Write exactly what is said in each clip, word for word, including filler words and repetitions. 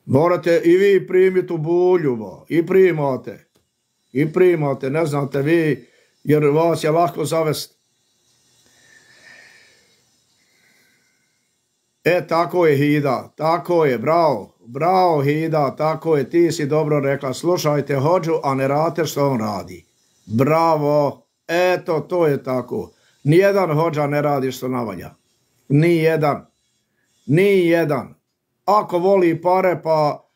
Morate i vi primiti u bulju, bo. I primate. I primate, ne znate vi, jer vas je lako zavesti. E, tako je, Hida, tako je, bravo, bravo, Hida, tako je, ti si dobro rekla, slušajte hođu, a ne radite što on radi. Bravo, eto, to je tako. Nijedan hođa ne radi što navalja. Nijedan. Nijedan. Ako voli pare, pa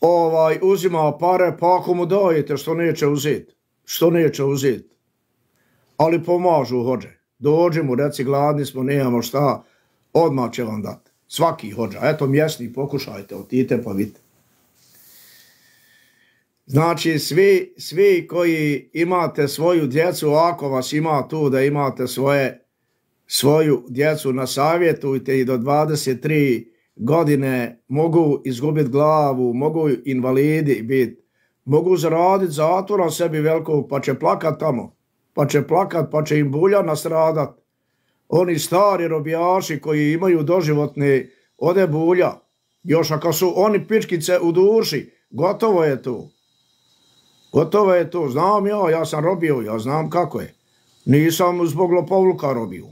ovaj, uzima pare, pa ako mu dajete, što neće uzeti. Što neće uzeti. Ali pomažu hođe. Dođi mu, reci, gladni smo, nemamo šta, odmah će vam dati. Svaki hođa. Eto, mjesni, pokušajte, otite pa vidite. Znači, svi, svi koji imate svoju djecu, ako vas ima tu da imate svoje, svoju djecu, nasavjetujte i do dvadeset tri godine mogu izgubiti glavu, mogu invalidi biti, mogu zaraditi zatvora sebi velikog, pa će plakat tamo, pa će plakat, pa će im bulja nastradat. Oni stari robijaši koji imaju doživotne ode bulja, još ako su oni pičkice u duši, gotovo je to. Gotovo je to, znam ja, ja sam robio, ja znam kako je. Nisam zbog lopovluka robio.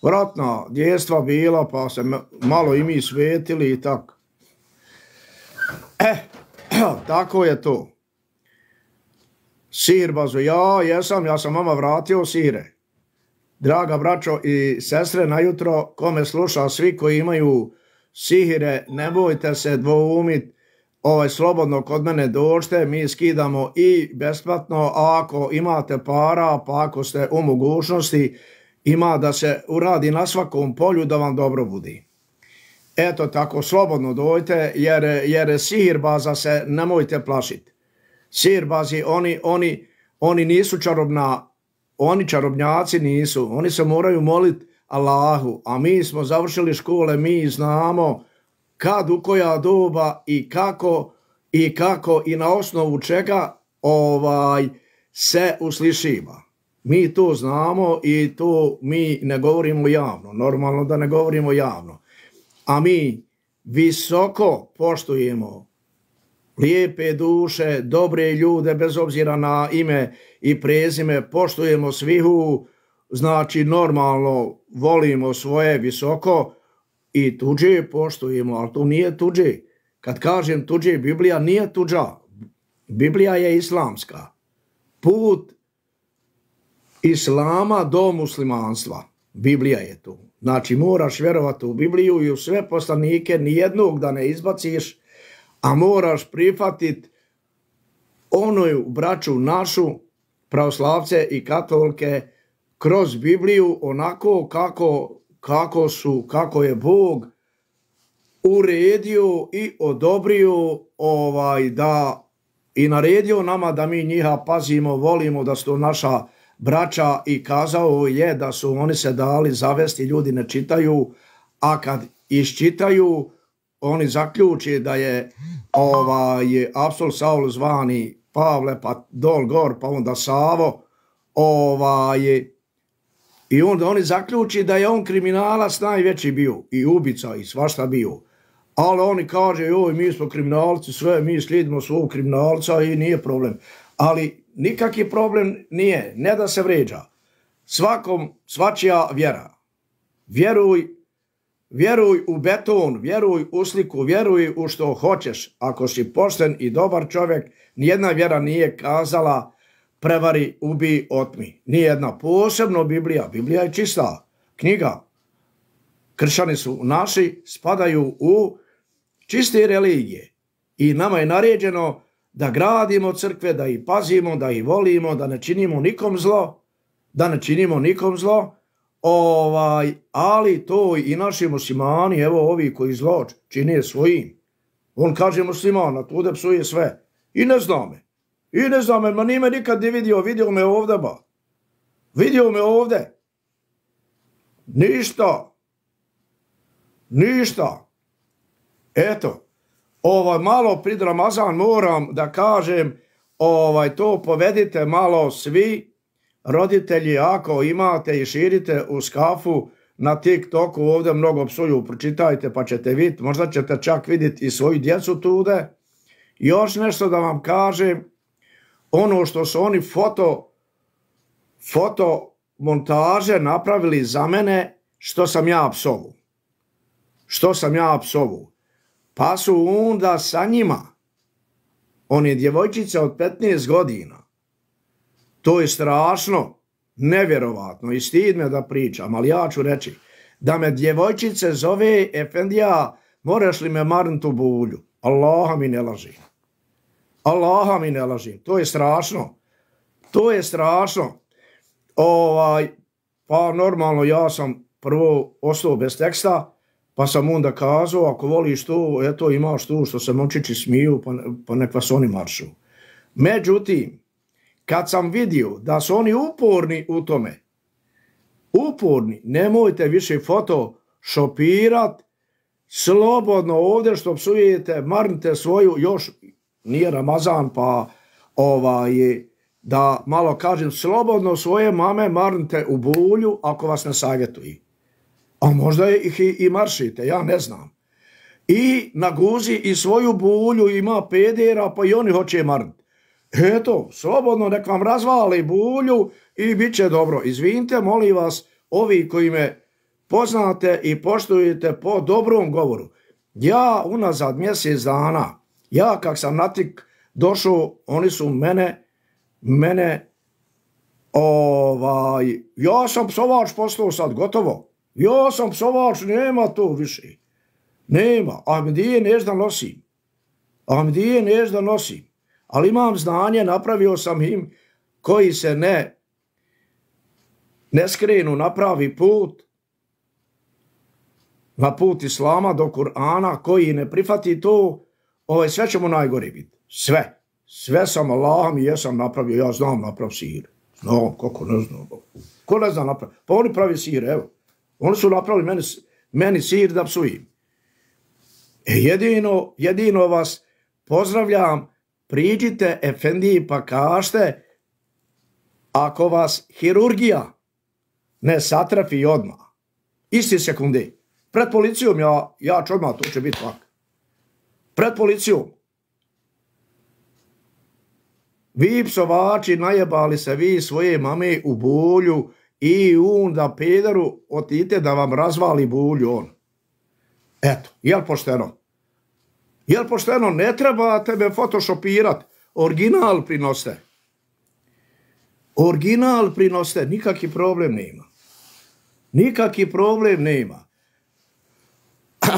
Vratna djestva bila, pa se malo i mi svetili i tako. E, tako je to. Sir bazo, ja jesam, ja sam vama vratio sire. Draga braćo i sestre, najutro, kome sluša, svi koji imaju sihire, ne bojte se dvoumit, ovaj, slobodno kod mene dođite, mi skidamo i besplatno, a ako imate para, pa ako ste u mogućnosti, ima da se uradi na svakom polju da vam dobro budi. Eto tako, slobodno dojte, jer, jer sihirbaza se nemojte plašiti. Sihirbazi, oni, oni, oni nisu čarobna, oni čarobnjaci nisu, oni se moraju moliti Allahu, a mi smo završili škole, mi znamo kad, u koja doba i kako i kako i na osnovu čega ovaj se uslišiva. Mi to znamo i to mi ne govorimo javno, normalno da ne govorimo javno. A mi visoko poštujemo lijepe duše, dobre ljude, bez obzira na ime i prezime, poštujemo svihu, znači normalno volimo svoje visoko i tuđe poštujemo, ali to nije tuđe. Kad kažem tuđe, Biblija nije tuđa. Biblija je islamska. Put islama do muslimanstva. Biblija je tu. Znači moraš vjerovati u Bibliju i u sve poslanike, nijednog da ne izbaciš, a moraš prihvatiti onu braću našu, pravoslavce i katolike, kroz Bibliju onako kako, kako su, kako je Bog uredio i odobrio ovaj, da i naredio nama da mi njiha pazimo, volimo, da su to naša braća i kazao je da su oni se dali zavesti, ljudi ne čitaju, a kad iščitaju, oni zaključi da je ovaj, apostol Saul zvani Pavle, pa dol gor, pa onda Savo, ovaj, i onda oni zaključi da je on kriminalac najveći bio, i ubica, i svašta bio. Ali oni kaže, joj, mi smo kriminalci, sve, mi slijedimo svog kriminalca i nije problem. Ali nikakvi problem nije, ne da se vređa. Svakom, svačija vjera. Vjeruj, vjeruj u beton, vjeruj u sliku, vjeruj u što hoćeš. Ako si pošten i dobar čovjek, nijedna vjera nije kazala prevari, ubi, otmi. Nijedna, posebno Biblija. Biblija je čista knjiga. Kršćani su naši, spadaju u čiste religije. I nama je naređeno da gradimo crkve, da ih pazimo, da ih volimo, da ne činimo nikom zlo, da ne činimo nikom zlo, ovaj, ali to i naši muslimani, evo ovi koji zlo čine svojim. On kaže muslimana, tude psuje sve. I ne zna me. I ne zna me, ma nije me nikad ne vidio, vidio me ovdje, ba. Vidio me ovdje. Ništa. Ništa. Eto, ovaj, malo pred Ramazan moram da kažem, ovaj, to povedite malo svi roditelji, ako imate i širite u skafu na TikToku ovdje mnogo psuju, pročitajte pa ćete vidjeti, možda ćete čak vidjeti i svoju djecu tude. Još nešto da vam kažem, ono što su oni foto, foto montaže napravili za mene, što sam ja psovu. Što sam ja psovu. Pa su onda sa njima, one djevojčice od petnaest godina, to je strašno, nevjerovatno i stid me da pričam, ali ja ću reći, da me djevojčice zove Efendija, moraš li me marnut u bulju? Allaha mi ne laži. Allaha mi ne laži. To je strašno. To je strašno. Ovaj, pa normalno ja sam prvo ostao bez teksta, pa sam onda kazao, ako voliš to, eto imaš tu što se momčići smiju, pa, pa nek vas oni maršu. Međutim, kad sam vidio da su oni uporni u tome, uporni, nemojte više photoshopirat, slobodno ovdje što psujete, marnite svoju, još nije Ramazan, pa ovaj, da malo kažem, slobodno svoje mame marnite u bulju ako vas ne savjetuju. A možda ih i, i maršite, ja ne znam. I na guzi i svoju bulju ima pedera, pa i oni hoće marniti. Eto, slobodno nek vam razvali bulju i bit će dobro. Izvinite, molim vas, ovi koji me poznate i poštujete po dobrom govoru. Ja unazad mjesec dana, ja kak sam na tik došao, oni su mene, mene, ovaj, ja sam psovač postao sad, gotovo. Ja sam psovač, nema to više. Nema, Ahmedije nešto nosim. Ahmedije nešto nosim. Ali imam znanje, napravio sam im koji se ne, ne skrenu na pravi put, na put Islama do Kur'ana, koji ne prihvati to, ovaj, sve ćemo najgore biti. Sve. Sve sam Allahom i jesam napravio. Ja znam naprav sir. Znam, kako ne znam. Ko ne zna naprav? Pa oni pravi sir, evo. Oni su napravili meni, meni sir da psujem. E jedino, jedino vas pozdravljam, priđite Efendiji pa kažete, ako vas hirurgija ne satrafi odmah, isti sekunde, pred policijom ja, ja ću odmah, to će biti lak. Pred policijom. Vi psovači najebali se vi svoje mame u bulju i onda pederu otite da vam razvali bulju on. Eto, jel pošteno? Jel pošteno? Ne treba tebe photoshopirat. Original prinoste. Original prinoste. Nikaki problem nema. Nikaki problem nema.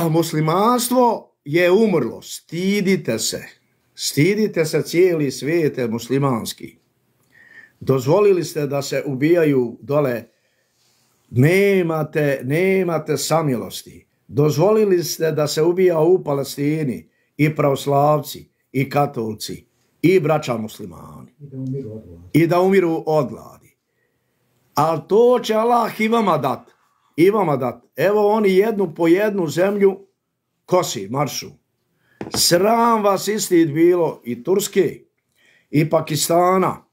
Muslimanstvo je umrlo. Stidite se. Stidite se, cijeli svijet je muslimanski. Dozvolili ste da se ubijaju dole. Nemate, nemate samilosti. Dozvolili ste da se ubija u Palestini i pravoslavci, i katolci, i braća muslimani. I da umiru od gladi. I da umiru od gladi. Ali to će Allah i vama dat. I vama dat. Evo oni jednu po jednu zemlju kosi, maršu. Sram vas istid bilo i Turske, i Pakistana.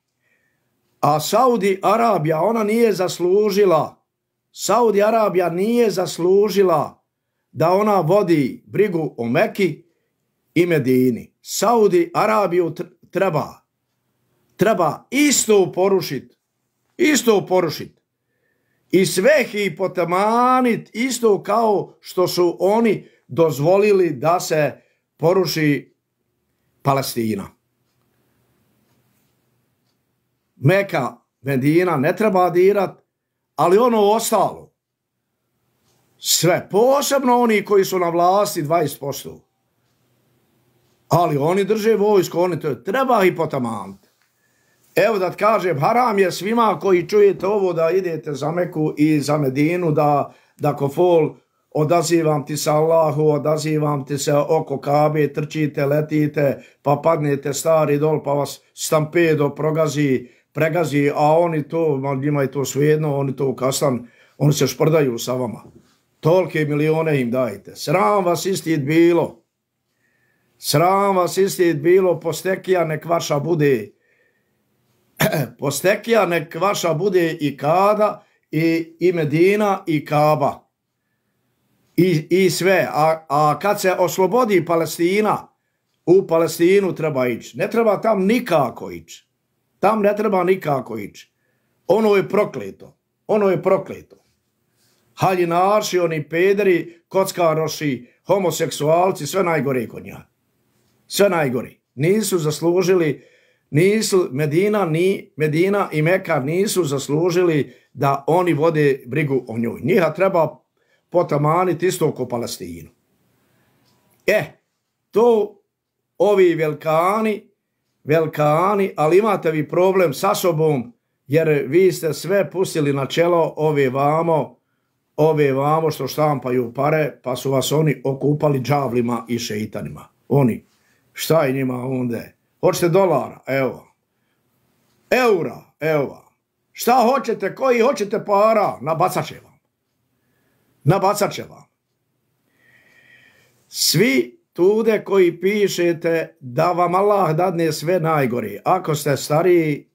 A Saudi Arabija, ona nije zaslužila, Saudi Arabija nije zaslužila da ona vodi brigu o Meki i Medini. Saudi Arabiju treba, treba isto porušiti, isto porušiti. I sve hipotemanit isto kao što su oni dozvolili da se poruši Palestina. Meka, Medina ne treba dirat, ali ono ostalo, sve, posebno oni koji su na vlasti dvadeset posto. Ali oni drže vojsko, oni to treba i potamaniti. Evo da ti kažem, haram je svima koji čujete ovo da idete za Meku i za Medinu, da, da kofol odazivam ti se Allahu, odazivam ti se oko Kabe, trčite, letite, pa padnete stari dol, pa vas stampedo progazi, pregazi, a oni to, njima je to svejedno, oni to kastan, oni se šprdaju sa vama. Tolike milijone im dajte. Sram vas istid bilo. Sram vas istid bilo, postekija nek vaša bude. Postekija nek vaša bude i kada, i, i Medina i Kaba i, i sve. A, a kad se oslobodi Palestina, u Palestinu treba ići. Ne treba tam nikako ići. Tam ne treba nikako ići. Ono je prokleto. Ono je prokleto. Haljinaši, oni pederi, kockaroši, homoseksualci, sve najgore kod njega. Sve najgore. Nisu zaslužili, nisu, Medina, ni, Medina i Meka nisu zaslužili da oni vode brigu o njoj. Njiha treba potamaniti isto oko Palestinu. E, to ovi velikani, velikani, ali imate vi problem sa sobom, jer vi ste sve pustili na čelo ove vamo, ove vamo što štampaju pare, pa su vas oni okupali džavlima i šeitanima. Oni, šta je njima onda? Hoćete dolara? Evo. Eura? Evo. Šta hoćete? Koji hoćete para? Nabacat će vam. Nabacat će vam. Svi tude koji pišete da vam Allah dadne sve najgore. Ako ste stariji,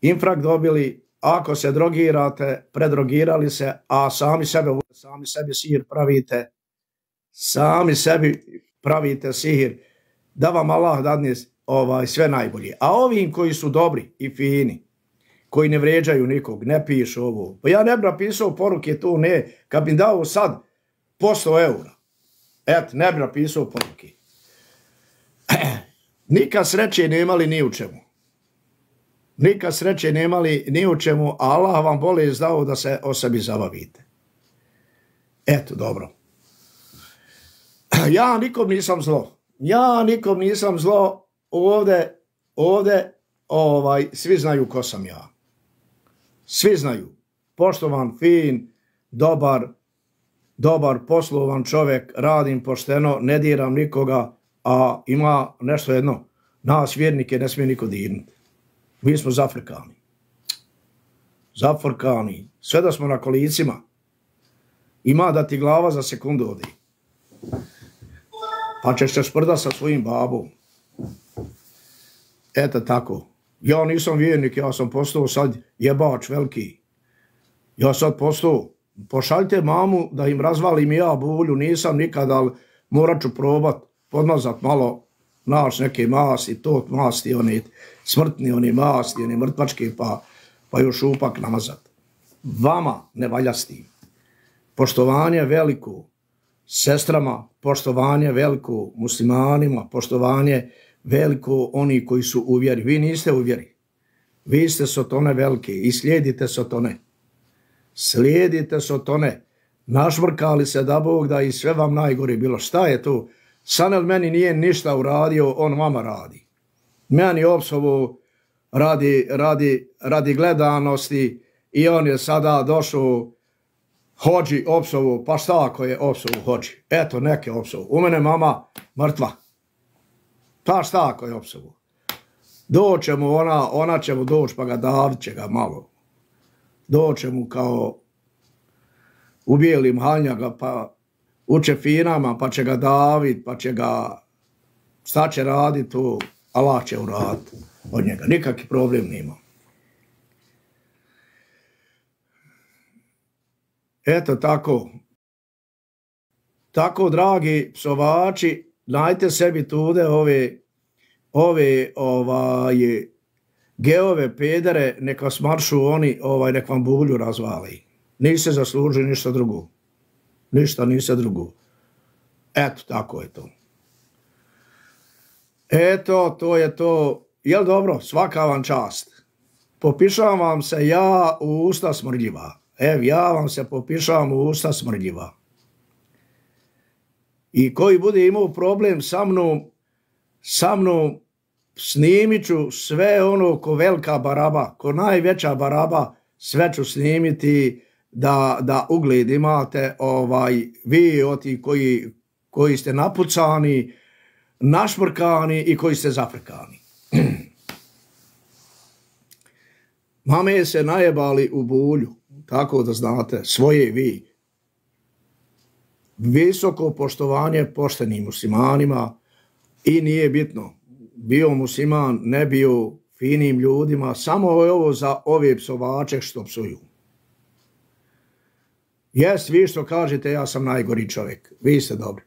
infrakt dobili, ako se drogirate, predrogirali se, a sami sebe, sami sebi sihir pravite, sami sebi pravite sihir, da vam Allah dadne ovaj, sve najbolje. A ovim koji su dobri i fini, koji ne vređaju nikog, ne pišu ovo. Pa ja ne bi napisao poruke tu, ne, kad bi dao sad posto eura. Et, ne bi napisao poruke. Nikad sreće nemali ni u čemu. Nikad sreće nemali ni u čemu, a Allah vam bolje izdao da se o sebi zabavite. Eto, dobro. Ja nikom nisam zlo. Ja nikom nisam zlo. Ovde, ovde, ovaj, svi znaju ko sam ja. Svi znaju. Poštovan, fin, dobar, dobar, poslovan čovjek, radim pošteno, ne diram nikoga, a ima nešto jedno. Nas vjernike ne smije niko dirnuti. Mi smo zafrkani. Zafrkani. Sve da smo na kolicima. Ima da ti glava za sekundu odi. Pa ćeš se sprda sa svojim babom. Eto tako. Ja nisam vjernik, ja sam postao sad jebač veliki. Ja sad postao. Pošaljte mamu da im razvalim ja bulju. Nisam nikad, ali morat ću probat podmazat malo naš neke masti, tot masti, oni smrtni, oni masti, oni mrtvački, pa, pa još upak namazat. Vama ne valja s tim. Poštovanje veliko sestrama, poštovanje veliko muslimanima, poštovanje veliko oni koji su u vjeri. Vi niste u vjeri. Vi ste sotone velike i slijedite sotone. Slijedite sotone. Našvrkali se da Bog da i sve vam najgore bilo. Šta je to? Sanel meni nije ništa uradio, on vama radi. Meni opsovo radi, radi, radi gledanosti i on je sada došao hođi opsovo, pa šta ako je opsovo hođi? Eto, neke opsovo. U mene mama mrtva. Pa šta ako je opsovo? Doće mu ona, ona će mu doći pa ga davit će ga malo. Doće mu kao u bijelim haljnjaga pa u čefinama, pa će ga davit, pa će ga, šta će radit tu, Allah će uraditi od njega. Nikakvi problem nima. Eto tako. Tako, dragi psovači, najte sebi tude ove, ove, ovaj, geove, pedere, neka smaršu oni, ovaj, nek vam bulju razvali. Niste zaslužili ništa drugo. Ništa, ništa drugo. Eto, tako je to. Eto, to je to. Jel dobro? Svaka vam čast. Popišavam vam se ja u usta smrdljiva. Ev, ja vam se popišavam u usta smrdljiva. I koji bude imao problem sa mnom, sa mnom snimit ću sve ono ko velika baraba, ko najveća baraba, sve ću snimiti da, da ugled imate, ovaj, vi oti koji, koji ste napucani, našmrkani i koji ste zafrkani. Mame se najebali u bulju, tako da znate, svoje vi. Visoko poštovanje poštenim muslimanima i nije bitno, bio musliman, ne bio finim ljudima, samo je ovo za ove psovače što psuju. Jes, vi što kažete, ja sam najgori čovjek. Vi ste dobri.